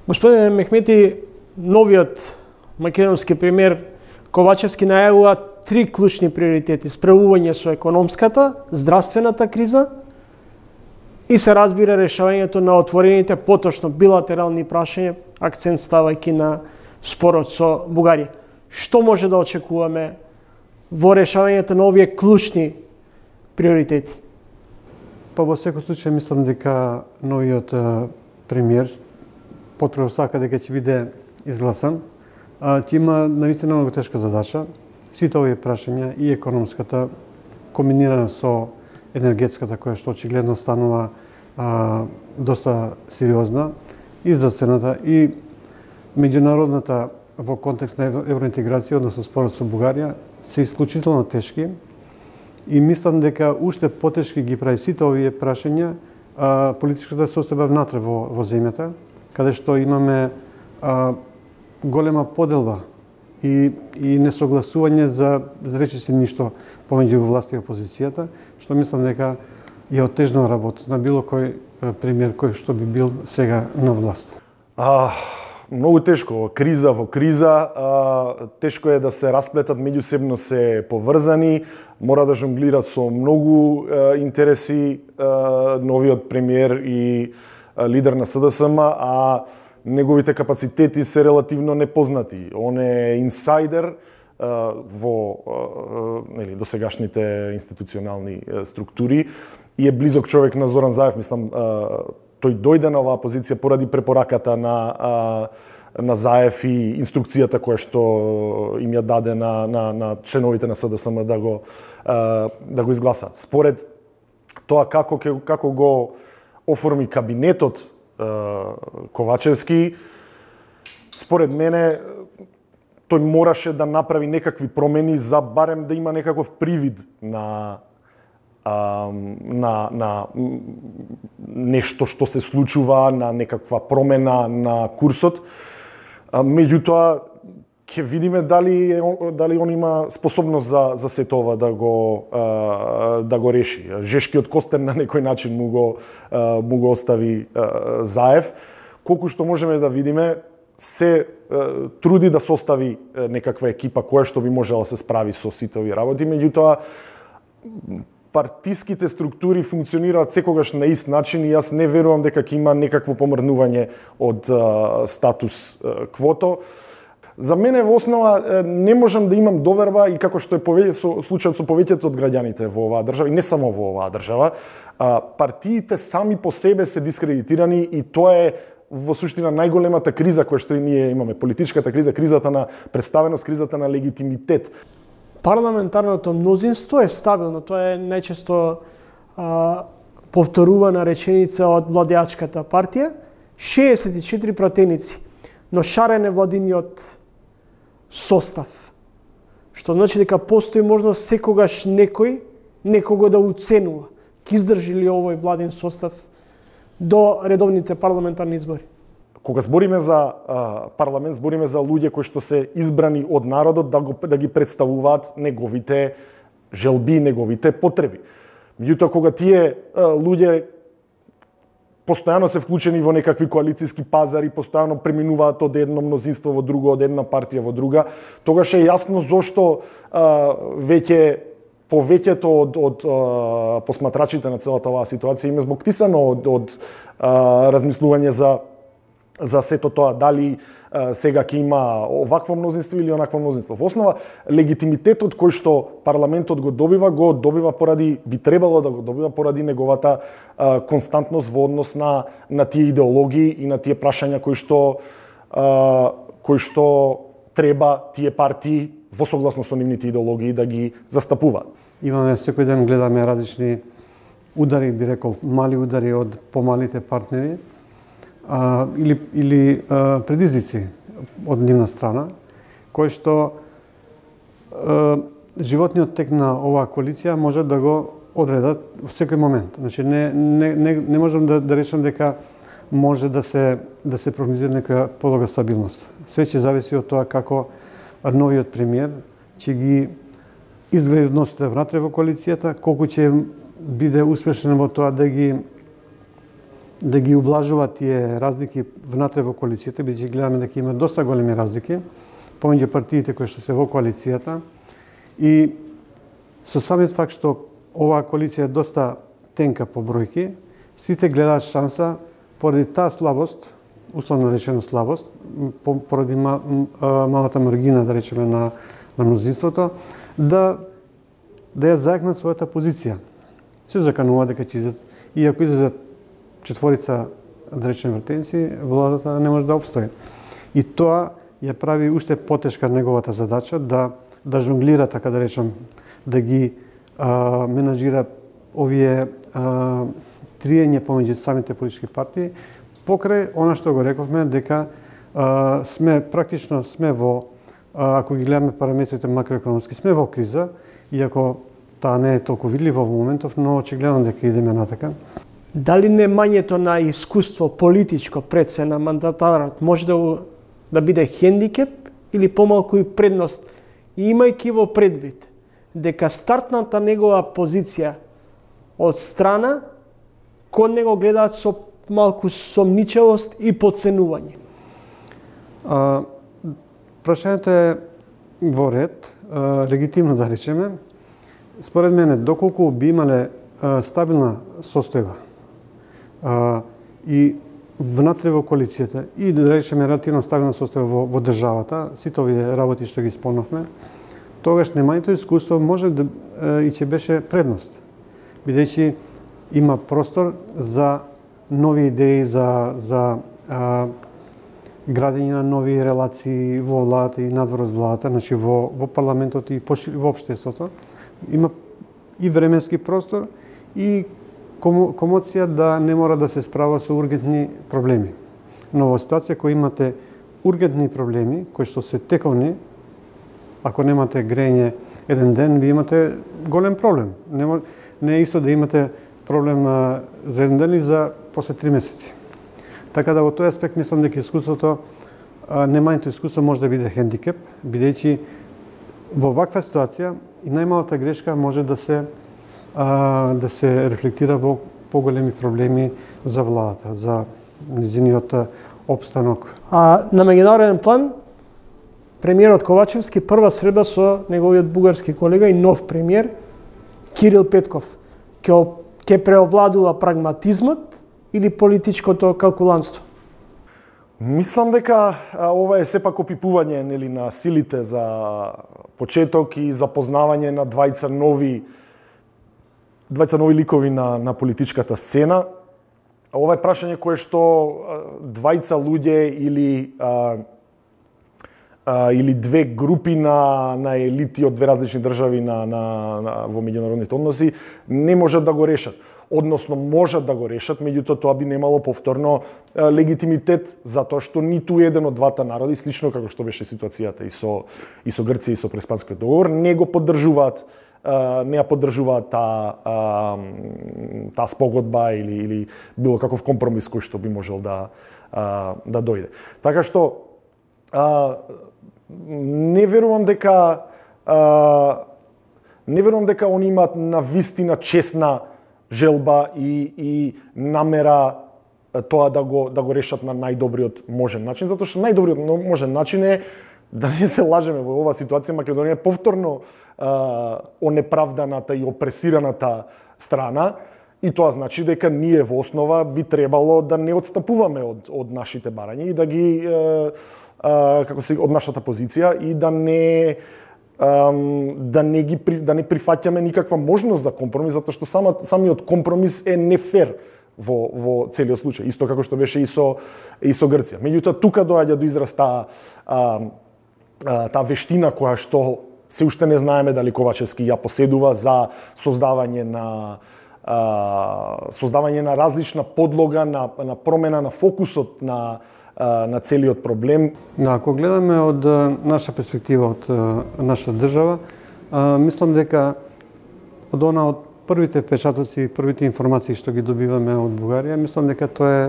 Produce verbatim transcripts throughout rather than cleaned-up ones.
Господине Мехмети, новиот македонски премиер Ковачевски најавува три клучни приоритети: справување со економската, здравствената криза и се разбира решавањето на отворените поточно билатерални прашања, акцент ставајќи на спорот со Бугарија. Што може да очекуваме во решавањето на овие клучни приоритети? Па во секој случај мислам дека новиот премиер потпрво сака дека ќе биде изгласан. Ќе има наистина многу тешка задача. Сите овие прашања, и економската, комбинирана со енергетската, која што очигледно станува а, доста сериозна, и здравствената, и меѓународната во контекст на евроинтеграција, односно спорот со Бугарија, се исклучително тешки. И мислам дека уште потешки ги прави сите овие прашања а, политичката состојба внатре во, во земјата, каде што имаме а, голема поделба и, и несогласување за, да рече се, ништо помеѓу власт и опозицијата, што мислам дека ја отежнува работа на било кој премиер кој што би бил сега на власт. А, многу тешко, криза во криза, а, тешко е да се расплетат, меѓусебно се поврзани, мора да жонглира со многу а, интереси а, новиот премиер и а, лидер на СДСМ, а неговите капацитети се релативно непознати. Он е инсайдер а, во а, нели, досегашните институционални а, структури и е близок човек на Зоран Заев. Мислам, а, тој дојде на оваа позиција поради препораката на, а, на Заев и инструкцијата која што им ја даде на, на, на членовите на СДСМ да го, а, да го изгласат. Според тоа како, како го оформи кабинетот Ковачевски, според мене тој мораше да направи некакви промени за барем да има некаков привид на а, на на нешто што се случува, на некаква промена на курсот. А, меѓутоа ќе видиме дали дали он има способност за за сето ова да го а, да го реши. Жешкиот костен на некој начин му го а, му го остави а, Заев. Колку што можеме да видиме, се а, труди да состави а, некаква екипа која што би можела да се справи со сите овие работи, меѓутоа партиските структури функционираат секогаш на ист начин и јас не верувам дека ќе има некакво помрнување од а, статус а, квото. За мене во основа не можам да имам доверба и како што е повеќе со случајот со повеќето од граѓаните во оваа држава и не само во оваа држава, партиите сами по себе се дискредитирани и тоа е во суштина најголемата криза која што и ние имаме, политичката криза, кризата на представеност, кризата на легитимитет. Парламентарното мнозинство е стабилно, тоа е најчесто а, повторувана реченица од владеачката партија, шеесет и четири пратеници, но шарен е владиниот состав. Што значи дека постои можност секогаш некој некого да уценува. Ке издржи ли овој владин состав до редовните парламентарни избори? Кога збориме за а, парламент, збориме за луѓе кои што се избрани од народот да го да ги представуваат неговите желби, неговите потреби. Меѓутоа кога тие а, луѓе постојано се вклучени во некакви коалициски пазари, постојано преминуваат од едно мнозинство во друго, од една партија во друга, тогаш е јасно зошто а, веќе повеќето од, од а, посматрачите на целата оваа ситуација им е збогтисано од, од а, размислување за за сето тоа, дали а, сега ќе има овакво мнозинство или онакво мнозинство. Во основа, легитимитетот кој што парламентот го добива, го добива поради, би требало да го добива поради неговата а, константност во однос на, на тие идеологии и на тие прашања кои што, а, кои што треба тие партии во согласно со нивните идеологии да ги застапуваат. Имаме секој ден гледаме различни удари, би рекол, мали удари од помалите партнери, А, или, или а, предизвици од нивна страна, кои што а, животниот тек на оваа коалиција може да го одредат во секој момент. Значи не не не, не можам да да речам дека може да се да се прогнозира нека подолга стабилност. Све ќе зависи од тоа како новиот премиер ќе ги изгради односите внатре во коалицијата, колку ќе биде успешен во тоа да ги да ги ублажува тие разлики внатре во коалицијата, бидејќи гледаме дека има доста големи разлики помеѓу партиите кои што се во коалицијата. И со самиот факт што оваа коалиција е доста тенка по бројки, сите гледаат шанса поради таа слабост, условно речено слабост, поради малата маргина, да речеме, на, на мнозинството, да, да ја заекнат својата позиција. Се заканува дека ќе излезат, и ако излезат четворица, да речеме, вратеници, владата не може да обстои. И тоа ја прави уште потешка неговата задача да, да жонглира, така да речем, да ги а, менаџира овие а, триење помеѓу самите политички партии, покрај она што го рековме, дека а, сме, практично сме во, а, ако ги гледаме параметрите макроекономски, сме во криза, иако таа не е толку видлива во моментов, но очигледно дека идеме натака. Дали немањето на искуство политичко пред се на мандатарот може да, да биде хендикеп или помалку и предност, и имајќи во предвид дека стартната негова позиција од страна кон него гледаат со малку сомничавост и подценување? А, прашањето е во ред, а, легитимно да речеме. Според мене, доколку би имале а, стабилна состојба а, и внатре во коалицијата и да речеме релативно стабилна состојба во, во државата, сите овие работи што ги спомнавме, тогаш немањето искуство може да а, и ќе беше предност, бидејќи има простор за нови идеи, за, за а, градење на нови релации во владата и надвор од владата, значи во, во парламентот и во општеството. Има и временски простор и комоција да не мора да се справа со ургентни проблеми. Но во ситуација која имате ургентни проблеми, кои што се тековни, ако немате грење еден ден, ви имате голем проблем. Не, мор, не е исто да имате проблем а, за еден ден и за после три месеци. Така да во тој аспект мислам дека искуството, а, немањето искуство може да биде хендикеп, бидејќи во ваква ситуација и најмалата грешка може да се а, да се рефлектира во поголеми проблеми за владата, за низиниот опстанок. А на меѓународен план, премиерот Ковачевски прва среда со неговиот бугарски колега и нов премиер Кирил Петков ќе ќе преовладува прагматизмот или политичкото калкулантство? Мислам дека а, ова е сепак опипување, нели, на силите за почеток и запознавање на двајца нови двајца нови ликови на, на политичката сцена. Ова е прашање кое што а, двајца луѓе или а, а, или две групи на, на елити од две различни држави на, на, на, во меѓународните односи не можат да го решат. Односно можат да го решат, меѓутоа тоа би немало повторно а, легитимитет, затоа што ниту еден од двата народи, слично како што беше ситуацијата и со и со Грција и со Преспанскиот договор, не го поддржуваат, а, не ја поддржуваат таа таа спогодба или или било каков компромис кој што би можел да а, да дојде. Така што а, не верувам дека а, не верувам дека они имаат на вистина честна желба и, и намера тоа да го, да го решат на најдобриот можен начин, затоа што најдобриот можен начин е, да не се лажеме, во оваа ситуација Македонија е повторно а, онеправданата и опресираната страна, и тоа значи дека ние во основа би требало да не отстапуваме од, од нашите барања и да ги, а, а, како се, од нашата позиција и да не да не ги да не прифаќаме никаква можност за компромис, затоа што сама, самиот компромис е нефер во во целиот случај, исто како што беше и со и со Грција. Меѓутоа тука доаѓа до израз таа таа вештина која што се уште не знаеме дали Ковачевски ја поседува за создавање на а, создавање на различна подлога на на промена на фокусот на на целиот проблем. Ако гледаме од наша перспектива, од нашата држава, мислам дека од она од првите впечатоци и првите информации што ги добиваме од Бугарија, мислам дека тоа е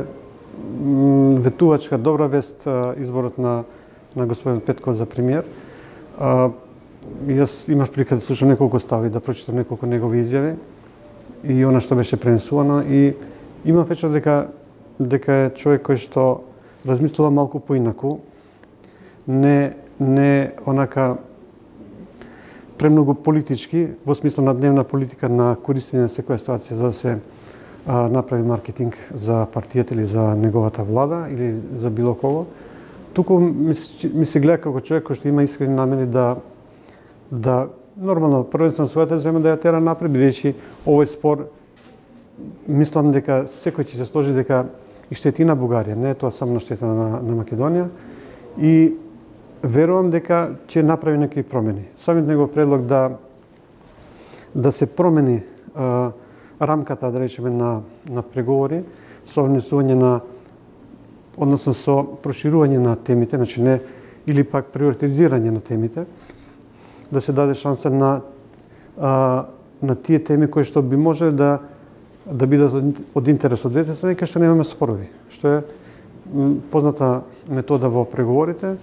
ветувачка добра вест изборот на на господин Петков за премиер. Јас имав прилика да слушам неколку стави, да прочитам неколку негови изјави и она што беше пренесувано, и имам впечаток дека дека е човек кој што размислува малку поинаку, не не онака премногу политички, во смисла на дневна политика на користење на секоја ситуација за да се а, направи маркетинг за партијата или за неговата влада или за било кого. Туку ми, ми се гледа како човек кој што има искрени намери да да нормално првенствено својата земја да ја тера напред, бидејќи овој спор мислам дека секој ќе се сложи дека и штетина Бугарија, не е тоа само на штета на, на Македонија и верувам дека ќе направи некои промени. Самиот негов предлог да да се промени а, рамката, да речеме, на на преговори со внесување на односно со проширување на темите, значи не или пак приоритизирање на темите, да се даде шанса на а, на тие теми кои што би можеле да да бидат од, од интерес од двете страни, кај што немаме спорови, што е позната метода во преговорите.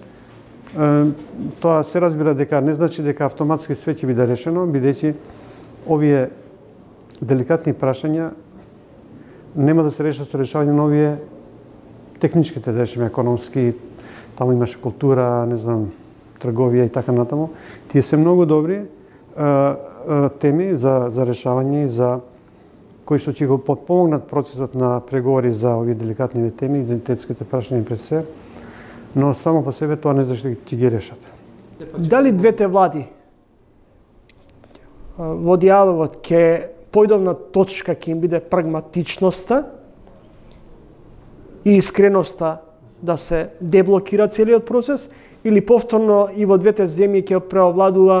Тоа се разбира дека не значи дека автоматски све ќе биде решено, бидејќи овие деликатни прашања нема да се решат со решавање на овие техничките, да речеме, економски, таму имаше култура, не знам, трговија и така натаму. Тие се многу добри а, а, теми за, за решавање и за кои што ќе го подпомогнат процесот на преговори за овие деликатни теми, идентитетските прашања пред се, но само по себе тоа не значи дека ќе ги решат. Дали двете влади во диалогот ќе појдовна точка ќе им биде прагматичноста и искреноста да се деблокира целиот процес, или повторно и во двете земји ќе преовладува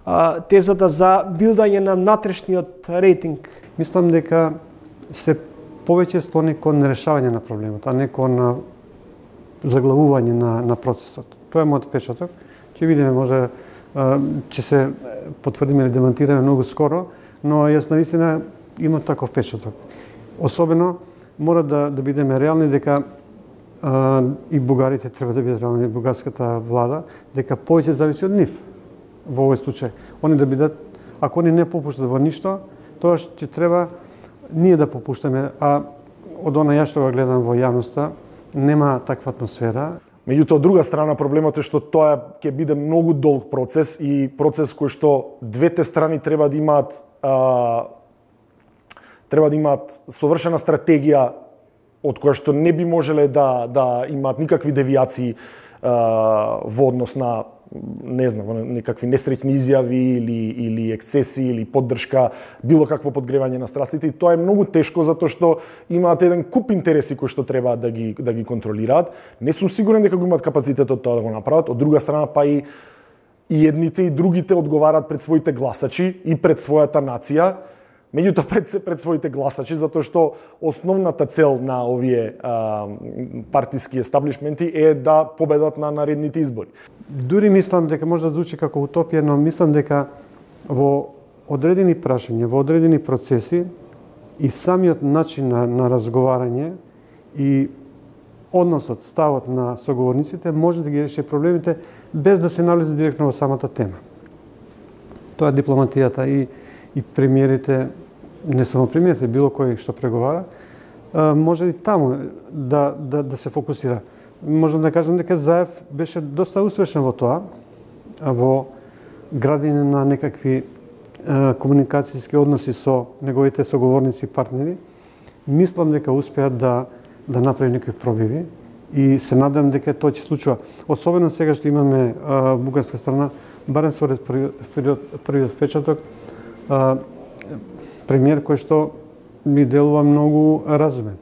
а, тезата за билдање на внатрешниот рейтинг? Мислам дека се повеќе склони кон решавање на проблемот, а не кон заглавување на, на процесот. Тоа е мојот впечаток. Ќе видиме, може ќе се потврдиме или демантираме многу скоро, но јас навистина имам таков впечаток. Особено мора да да бидеме реални дека а, и бугарите треба да бидат реални, бугарската влада, дека повеќе зависи од нив во овој случај. Они да бидат, ако они не попуштат во ништо, тоа ќе треба ние да попуштаме, а од она ја што го гледам во јавноста, нема таква атмосфера. Меѓутоа, од друга страна, проблемот е што тоа ќе биде многу долг процес и процес кој што двете страни треба да имаат а, треба да имаат совршена стратегија од која што не би можеле да да имаат никакви девијации а, во однос на не знам, некакви несреќни изјави или или ексцеси или поддршка, било какво подгревање на страстите, и тоа е многу тешко затоа што имаат еден куп интереси кои што треба да ги да ги контролираат. Не сум сигурен дека го имаат капацитетот тоа да го направат. Од друга страна, па и и едните и другите одговараат пред своите гласачи и пред својата нација, меѓутоа пред се пред своите гласачи, затоа што основната цел на овие а, партиски естаблишменти е да победат на наредните избори. Дури мислам дека може да звучи како утопија, но мислам дека во одредени прашања, во одредени процеси и самиот начин на, на разговарање и односот, ставот на соговорниците може да ги реши проблемите без да се налезе директно во самата тема. Тоа е дипломатијата и и премиерите, не само премиерите, било кој што преговара, може и таму да, да, да се фокусира. Можам да кажам дека Заев беше доста успешен во тоа, во градење на некакви е, комуникацијски односи со неговите соговорници и партнери. Мислам дека успеа да, да направи некои пробиви и се надам дека тоа ќе случува. Особено сега што имаме а, бугарска страна, барем според првиот првиот впечаток, премиер кој што ми делува многу разумен.